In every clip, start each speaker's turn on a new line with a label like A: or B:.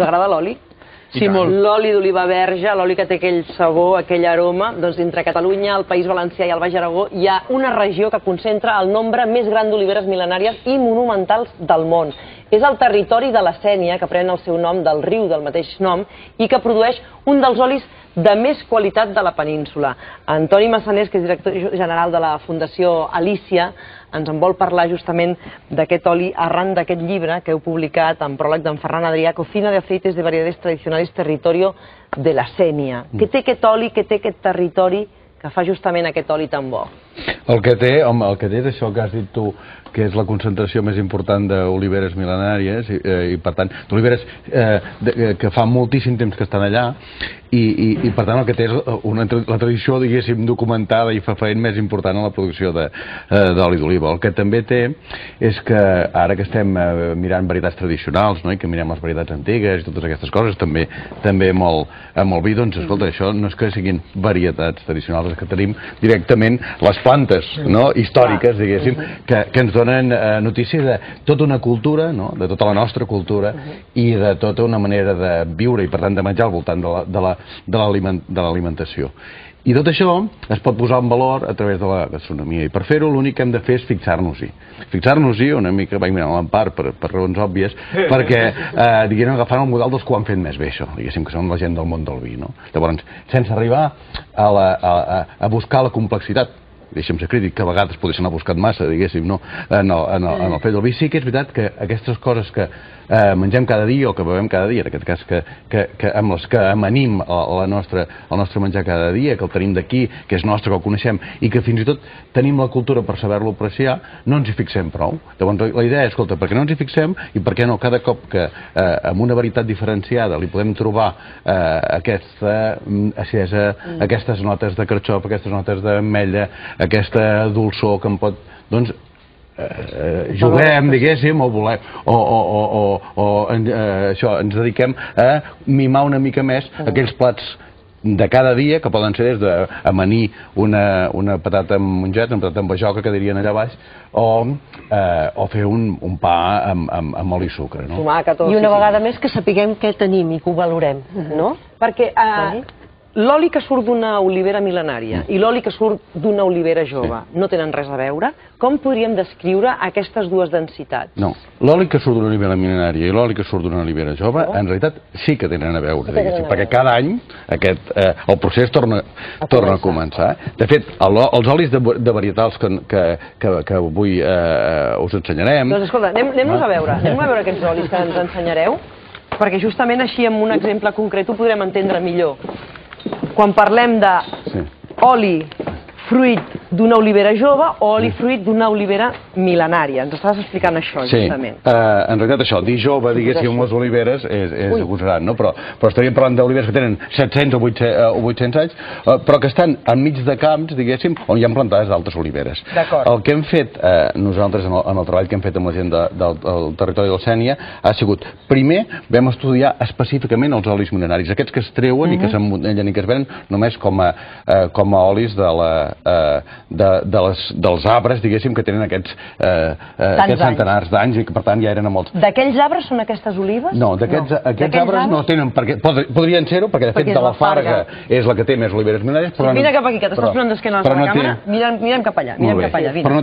A: Us agrada l'oli?
B: Sí, molt.
A: L'oli d'oliva verge, l'oli que té aquell sabor, aquell aroma, doncs entre Catalunya, el País Valencià i el Baix Aragó hi ha una regió que concentra el nombre més gran d'oliveres mil·lenàries i monumentals del món. És el territori de la Sénia, que pren el seu nom del riu del mateix nom i que produeix un dels olis de més qualitat de la península. Antoni Massanés, que és director general de la Fundació Alícia, ens en vol parlar justament d'aquest oli arran d'aquest llibre que heu publicat en pròleg d'en Ferran Adrià, Cocina de aceites de variedades tradicionales territorio de la Sénia. Què té aquest oli, què té aquest territori que fa justament aquest oli tan bo?
B: El que té és això que has dit tu, que és la concentració més important d'oliveres mil·lenàries i per tant, d'oliveres que fa moltíssim temps que estan allà i per tant el que té és la tradició, diguéssim, documentada i fefaent més important en la producció d'oli d'oliva. El que també té és que ara que estem mirant varietats tradicionals, i que mirem les varietats antigues i totes aquestes coses, també amb el vi, doncs escolta, això no és que siguin varietats tradicionals, és que tenim directament les plantes històriques, diguéssim, que ens donen notícies de tota una cultura, de tota la nostra cultura i de tota una manera de viure i per tant de menjar al voltant de l'alimentació. I tot això es pot posar en valor a través de la gastronomia i per fer-ho l'únic que hem de fer és fixar-nos-hi. Fixar-nos-hi una mica, vaig mirant l'Empar per raons òbvies, perquè diguem agafant el model dels que ho han fet més bé això, diguéssim que són la gent del món del vi. Llavors, sense arribar a buscar la complexitat, deixa'm ser crític, que a vegades podrien haver buscat massa, diguéssim, en el fet del vi. Sí que és veritat que aquestes coses que mengem cada dia o que bevem cada dia, en aquest cas amb les que amanim el nostre menjar cada dia, que el tenim d'aquí, que és nostre, que el coneixem, i que fins i tot tenim la cultura per saber-lo apreciar, no ens hi fixem prou. Llavors la idea és, escolta, per què no ens hi fixem i per què no cada cop que amb una varietat diferenciada li podem trobar aquesta acidesa, aquestes notes de carxof, aquestes notes d'ametlla, aquesta dolçor que em pot... doncs juguem, diguéssim, o ens dediquem a mimar una mica més aquells plats de cada dia, que poden ser des d'amanir una patata amb mongeta, una patata amb bajoca, que dirien allà baix, o fer un pa amb oli i sucre.
C: I una vegada més que sapiguem què tenim i que ho valorem, no?
A: Perquè l'oli que surt d'una olivera mil·lenària i l'oli que surt d'una olivera jove no tenen res a veure? Com podríem descriure aquestes dues densitats?
B: No, l'oli que surt d'una olivera mil·lenària i l'oli que surt d'una olivera jove en realitat sí que tenen a veure, perquè cada any el procés torna a començar. De fet, els olis de varietals que avui us ensenyarem...
A: Doncs escolta, anem-nos a veure aquests olis que ens ensenyareu, perquè justament així amb un exemple concret ho podrem entendre millor. Quan parlem d'oli fruit d'una olivera jove o oli fruit d'una olivera mil·lenària. Ens estaves explicant això, justament.
B: Sí, en realitat això, dir jove, diguéssim, les oliveres és agosarat, però estaríem parlant d'oliveres que tenen 700 o 800 anys, però que estan enmig de camps, diguéssim, on hi ha plantades d'altres oliveres. El que hem fet nosaltres en el treball que hem fet amb la gent del territori de la Sénia ha sigut, primer, vam estudiar específicament els olis mil·lenaris, aquests que es treuen i que s'emmotellen i que es venen només com a olis dels arbres, diguéssim, que tenen aquests centenars d'anys i que per tant ja eren molts.
A: D'aquells arbres són aquestes olives?
B: No, aquests arbres no tenen perquè... Podrien ser-ho, perquè de fet de la Farga és la que té més oliveres mil·lenàries.
A: Mira cap aquí, que t'estàs posant d'esquena a la càmera. Mirem cap allà,
B: però no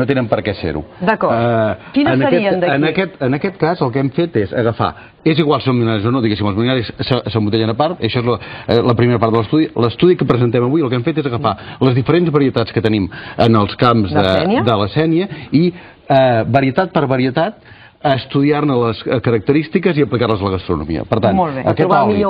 B: tenen per què ser-ho.
A: D'acord. Quines serien d'aquí?
B: En aquest cas el que hem fet és agafar, és igual si són mil·lenaris o no, diguéssim, els mil·lenaris s'emmotellen a part, això és la primera part de l'estudi. L'estudi que presentem avui el que hem fet és agafar les diferents varietats que tenim en els camps de la Sénia i varietat per varietat estudiar-ne les característiques i aplicar-les a la gastronomia. Per tant, aquest oli,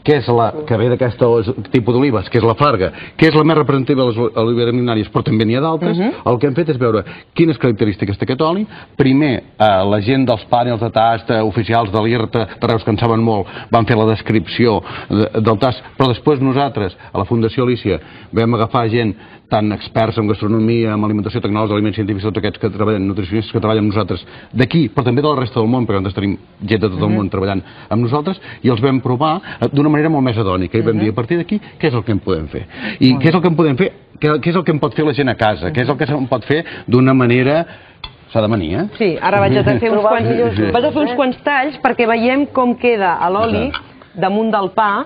B: que ve d'aquest tipus d'olives, que és la Farga, que és la més representativa de les oliveres mil·lenàries, però també n'hi ha d'altres, el que hem fet és veure quines característiques té aquest oli. Primer, la gent dels panels de tast oficials de l'IRTA, de Reus, que en saben molt, van fer la descripció del tast, però després nosaltres, a la Fundació Alícia, vam agafar gent tant experts en gastronomia, en alimentació, tecnòlegs, aliments científics, tots aquests que treballen, nutricionistes que treballen amb nosaltres d'aquí, però també de la resta del món, perquè nosaltres tenim gent de tot el món treballant amb nosaltres, i els vam provar d'una manera molt més hedònica, i vam dir, a partir d'aquí, què és el que en podem fer? I què és el que en podem fer? Què és el que en pot fer la gent a casa? Què és el que se'n pot fer d'una manera S'ha d'amanir, eh?
A: Sí, ara vaig a fer uns quants talls perquè veiem com queda l'oli damunt del pa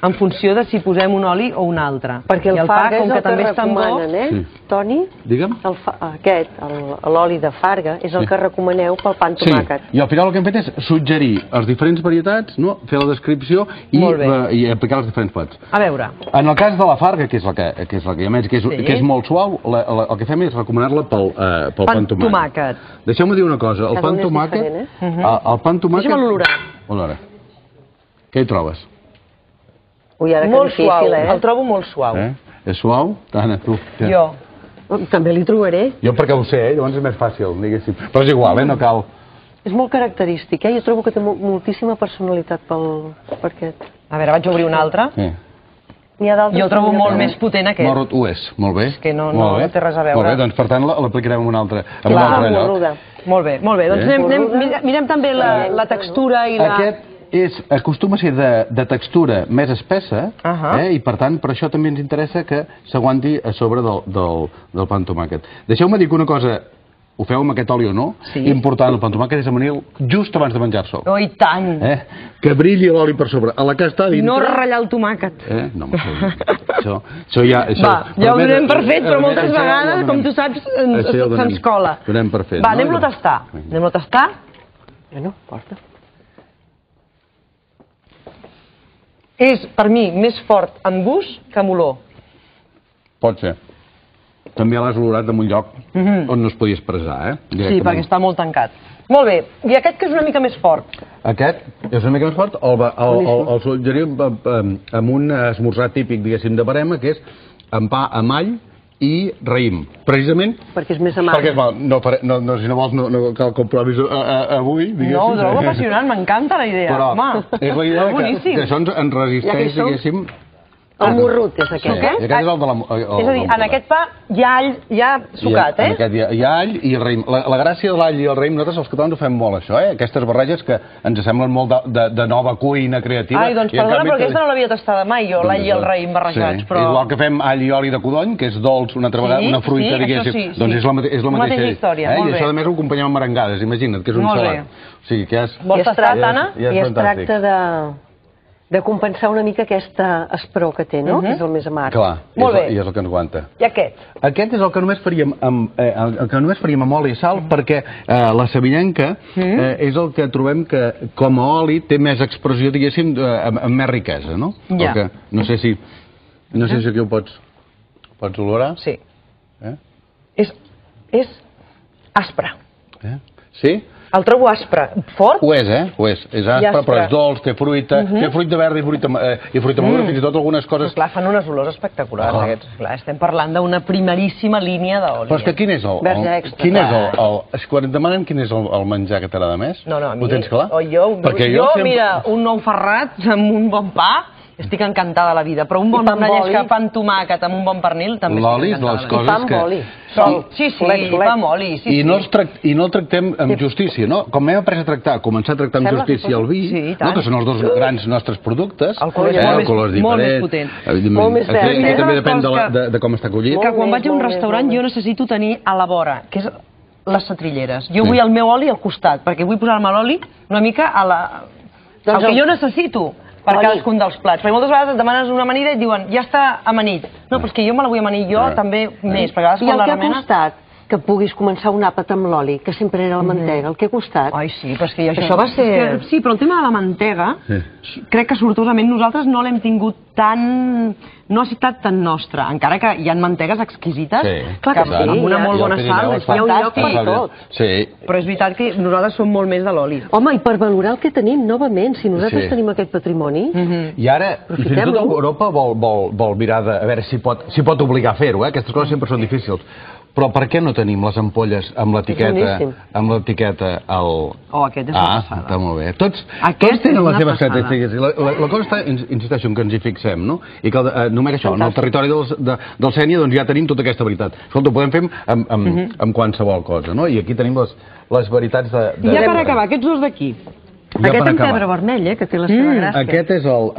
A: en funció de si posem un oli o un altre.
C: Perquè el farga és el que recomanen, eh, Toni?
B: Digue'm?
C: L'oli de farga és el que recomaneu pel pa amb tomàquet.
B: Sí, i al final el que hem fet és suggerir les diferents varietats, fer la descripció i aplicar les diferents plats.
A: A veure.
B: En el cas de la farga, que és la que és molt suau, el que fem és recomanar-la pel pa amb tomàquet. Deixeu-me dir una cosa, el pa amb tomàquet...
A: Deixa'm olorar.
B: Què hi trobes?
C: Ui, ara que difícil, eh?
A: El trobo molt suau.
B: És suau? Tana, tu.
A: Jo.
C: També li trobaré.
B: Jo perquè ho sé, llavors és més fàcil, diguéssim. Però és igual, no cal.
C: És molt característic, Jo trobo que té moltíssima personalitat per aquest.
A: A veure, vaig obrir un altre. Jo el trobo molt més potent aquest.
B: Ho és, molt bé.
A: És que no té res a veure.
B: Molt bé, doncs per tant l'aplicarem en un altre lloc.
A: Molt bé, doncs mirem també la textura i la...
B: Aquest acostuma a ser de textura més espessa i per tant per això també ens interessa que s'aguanti a sobre del pa amb tomàquet. Deixeu-me dir que una cosa, ho feu amb aquest oli o no, important el pa amb tomàquet és amanir-lo just abans de menjar-se'l.
A: Oh, i tant!
B: Que brilli l'oli per sobre. A la que està dintre...
A: No ratllar el tomàquet.
B: No, això ja...
A: Va, ja ho donem per fet, però moltes vegades, com tu saps, se'ns cola.
B: Donem per fet.
A: Va, anem-lo a tastar. Anem-lo a tastar?
C: Bueno, porta.
A: És, per mi, més fort en gust que en olor.
B: Pot ser. També l'has olorat en un lloc on no es podia expressar,
A: Sí, perquè està molt tancat. Molt bé. I aquest que és una mica més fort?
B: Aquest és una mica més fort, el suggerim amb un esmorzar típic, diguéssim, de Verema, que és amb pa amb all i raïm. Precisament...
C: Perquè és més amarg.
B: Si no vols, no cal que ho provis avui, diguéssim.
A: No, ho trobo apassionant, m'encanta la idea.
B: Però és la idea que això ens resisteix, diguéssim...
C: El morrut és aquest,
B: I aquest és el de la...
A: És a dir, en aquest pa hi ha all, ja sucat,
B: En aquest hi ha all i el raïm. La gràcia de l'all i el raïm, nosaltres els catalans ho fem molt, això, Aquestes barreges que ens semblen molt de nova cuina creativa.
A: Ai, doncs perdona, però aquesta no l'havia tastada mai, jo, l'all i el raïm barrejats, però...
B: Igual que fem all i oli de codony, que és dolç, una altra vegada, una fruita, diguéssim. Doncs és la mateixa
A: història, molt bé.
B: I això, a més, ho acompanyem amb merengades, imagina't, que és un salat. O sigui que és...
A: Vols tastar, Tana?
C: I es tracta de compensar una mica aquesta esperó que té, no? Que és el més amarg.
B: Clar, i és el que ens aguanta.
A: I aquest?
B: Aquest és el que només faríem amb oli i sal, perquè la sevillenca és el que trobem que com a oli té més expressió, diguéssim, amb més riquesa, no? No sé si aquí ho pots olorar.
A: Sí. És aspre.
B: Sí?
A: El trobo aspre. Fort?
B: Ho és, Ho és. És aspre, però és dolç, té fruita, té fruita verda i fruita madura, fins i tot algunes coses...
A: Clar, fan unes olors espectaculars, aquests. Clar, estem parlant d'una primeríssima línia d'oli.
B: Però és que quin és quan et demanen quin és el menjar que t'agrada més?
A: No, a mi...
B: Ho tens clar?
A: Jo, mira, un nou ferrat amb un bon pa... Estic encantada de la vida, però un bon llesca, pa amb tomàquet, amb un bon pernil, també estic encantada.
C: I pa amb oli.
A: Sí, pa amb oli.
B: I no el tractem amb justícia, no? Com hem après a tractar, començar a tractar amb justícia el vi, que són els dos grans nostres productes,
A: el color és molt més potent.
C: Molt més verd.
B: També depèn de com està collit.
A: Que quan vaig a un restaurant jo necessito tenir a la vora, que és les setrilleres. Jo vull el meu oli al costat, perquè vull posar-me l'oli una mica a la... El que jo necessito per cadascun dels plats. Perquè moltes vegades et demanes una amanida i et diuen, ja està amanit. No, però és que jo me la vull amanir jo també més.
C: I el que ha costat que puguis començar un àpat amb l'oli, que sempre era la mantega, el que ha costat?
A: Ai, sí, però és que això va ser... Sí, però el tema de la mantega, crec que sortosament nosaltres no l'hem tingut tan... No ha estat tan nostre, encara que hi ha mantegues exquisites, que amb una molt bona sal és fantàstic per tot. Però és veritat que nosaltres som molt més de l'oli.
C: Home, i per valorar el que tenim, novament, si nosaltres tenim aquest patrimoni...
B: I ara, fins i tot Europa vol mirar a veure si pot obligar a fer-ho, aquestes coses sempre són difícils. Però per què no tenim les ampolles amb l'etiqueta al...
A: Oh, aquest és una passada.
B: Està molt bé. Tots tenen les seves característiques. La cosa està, insisteixo, en que ens hi fixem, no? I que només això, en el territori del Sénia ja tenim tota aquesta veritat. Escolta, ho podem fer amb qualsevol cosa, no? I aquí tenim les veritats de...
A: I ja per acabar, aquests dos d'aquí.
C: Aquest en pebre vermell, que té la seva gràcia.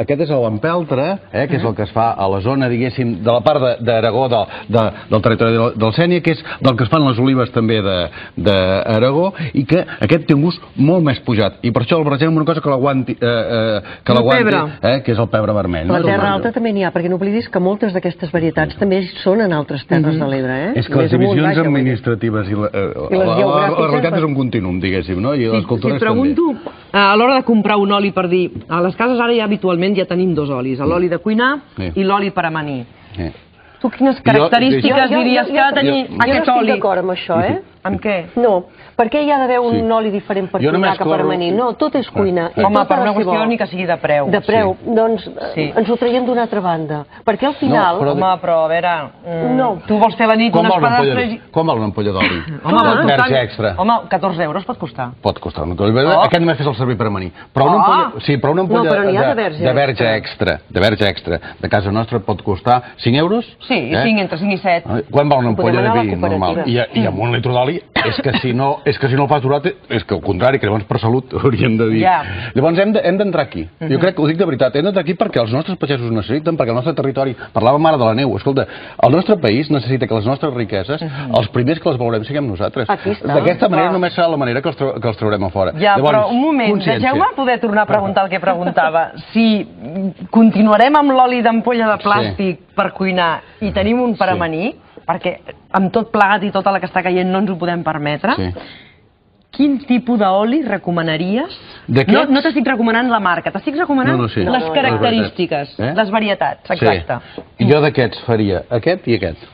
B: Aquest és l'empeltre, que és el que es fa a la zona, diguéssim, de la part d'Aragó, del territori del Sénia, que és del que es fan les olives també d'Aragó, i que aquest té un gust molt més pujat. I per això el barregem amb una cosa que l'aguanti, que és el pebre vermell.
C: A la Terra Alta també n'hi ha, perquè no oblidis que moltes d'aquestes varietats també són en altres terres de l'Ebre.
B: És que les divisions administratives i les realitats és un contínuum, diguéssim, no? I les cultures també.
A: A l'hora de comprar un oli, per dir, a les cases ara ja habitualment ja tenim dos olis, l'oli de cuinar i l'oli per amanir. Tu quines característiques diries que ha de tenir aquest oli?
C: Jo no estic d'acord amb això,
A: Amb què?
C: No, perquè hi ha d'haver un oli diferent per cuinar que per amanir. No, tot és cuina.
A: Home, per una qüestió ni que sigui de preu.
C: De preu, doncs ens ho traiem d'una altra banda. Perquè al final...
A: Home, però a veure... Tu vols fer la nit unes pedastres...
B: Com val una ampolla d'oli? Verge extra.
A: Home, 14 euros pot costar.
B: Pot costar. Aquest només fes el servir per amanir. Però una ampolla de verge extra, de casa nostra pot costar 5 euros?
A: Sí, entre 5 i 7.
B: Quan val una ampolla de vi normal? I amb un litre d'oli és que si no el fas durat, és que al contrari, que llavors per salut hauríem de dir. Llavors hem d'entrar aquí. Jo crec que ho dic de veritat, hem d'entrar aquí perquè els nostres pagesos ho necessiten, perquè el nostre territori, parlàvem ara de la neu, escolta, el nostre país necessita que les nostres riqueses, els primers que les valorem siguem nosaltres. D'aquesta manera només serà la manera que els traurem a fora.
A: Ja, però un moment, deixeu-me poder tornar a preguntar el que preguntava. Si continuarem amb l'oli d'ampolla de plàstic per cuinar i tenim un per amanir, perquè amb tot plegat i tota la que està caient no ens ho podem permetre, quin tipus d'oli recomanaries? No t'estic recomanant la marca, t'estic recomanant les característiques, les varietats, exacte.
B: Jo d'aquests faria aquest i aquest.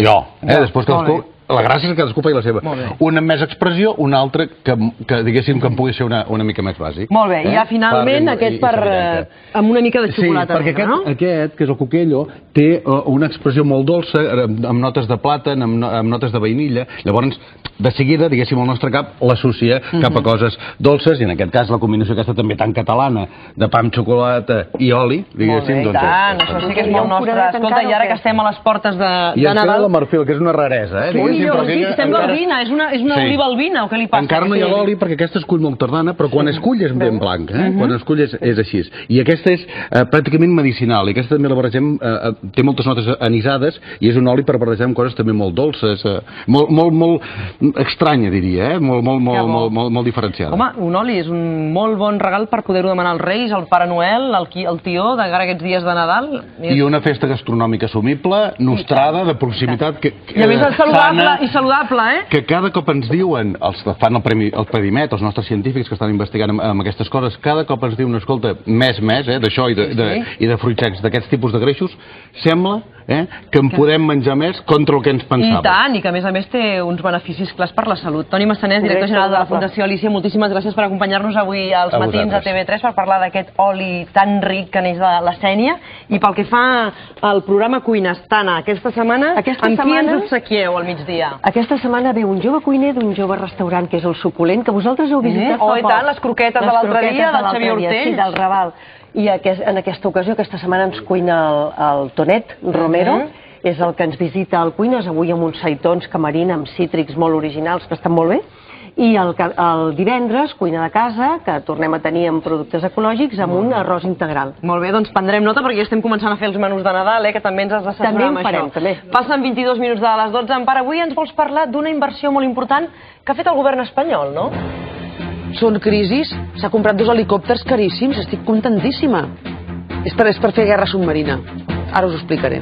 B: Jo, després cadascú... La gràcia és que cadascú faci la seva. Un amb més expressió, un altre que diguéssim que em pugui ser una mica més bàsic.
A: Molt bé, i ja finalment aquest amb una mica de xocolata negra, no?
B: Sí, perquè aquest, que és el Cuquello, té una expressió molt dolça, amb notes de plàtan, amb notes de vainilla. Llavors, de seguida, diguéssim, el nostre cap l'associa cap a coses dolces, i en aquest cas la combinació aquesta també tan catalana, de pa amb xocolata i oli, diguéssim.
A: Molt bé, tant, això sí que és molt nostre. Escolta, i ara que estem a les portes de Nadal...
B: I ens queda la marfil, que és una raresa,
A: sembla albina, és una oliva albina, o què li passa?
B: Encara no hi ha l'oli perquè aquesta es cull molt tardana, però quan es cull és ben blanc, quan es cull és així. I aquesta és pràcticament medicinal, i aquesta també la barregem, té moltes notes anisades, i és un oli per barrejar amb coses també molt dolces, molt estranya, diria, molt diferenciada.
A: Home, un oli és un molt bon regal per poder-ho demanar als Reis, al Pare Noel, al tió, de cara a aquests dies de Nadal.
B: I una festa gastronòmica assumible, nostrada, de proximitat,
A: i a més saludable,
B: que cada cop ens diuen, els que fan el Predimet, els nostres científics que estan investigant amb aquestes coses, cada cop ens diuen, escolta, més, d'això i de fruits secs, d'aquests tipus de greixos, sembla que en podem menjar més contra el que ens pensàvem.
A: I tant, i que a més té uns beneficis clars per la salut. Toni Massanés, director general de la Fundació Alícia, moltíssimes gràcies per acompanyar-nos avui als matins a TV3 per parlar d'aquest oli tan ric que neix de la Sénia. I pel que fa al programa Cuina Astana, aquesta setmana, amb qui ens obsequieu al migdia?
C: Aquesta setmana ve un jove cuiner d'un jove restaurant, que és el Suculent, que vosaltres heu visitat fa poc.
A: I tant, les croquetes de l'altre dia, del Xavier Hortells.
C: Sí, del Raval. I en aquesta ocasió, aquesta setmana, ens cuina el Tonet Romero, és el que ens visita al Cuines, avui amb uns seitons camarina amb cítrics molt originals, que estan molt bé. I el divendres, cuina de casa, que tornem a tenir amb productes ecològics, amb un arròs integral.
A: Molt bé, doncs prendrem nota perquè ja estem començant a fer els menús de Nadal, que també ens has d'assessorar amb això.
C: També.
A: Passen 22 minuts de les 12. Empar, avui ens vols parlar d'una inversió molt important que ha fet el govern espanyol, no?
D: Són crisis, s'ha comprat 2 helicòpters caríssims, estic contentíssima. És per fer guerra submarina. Ara us ho explicaré.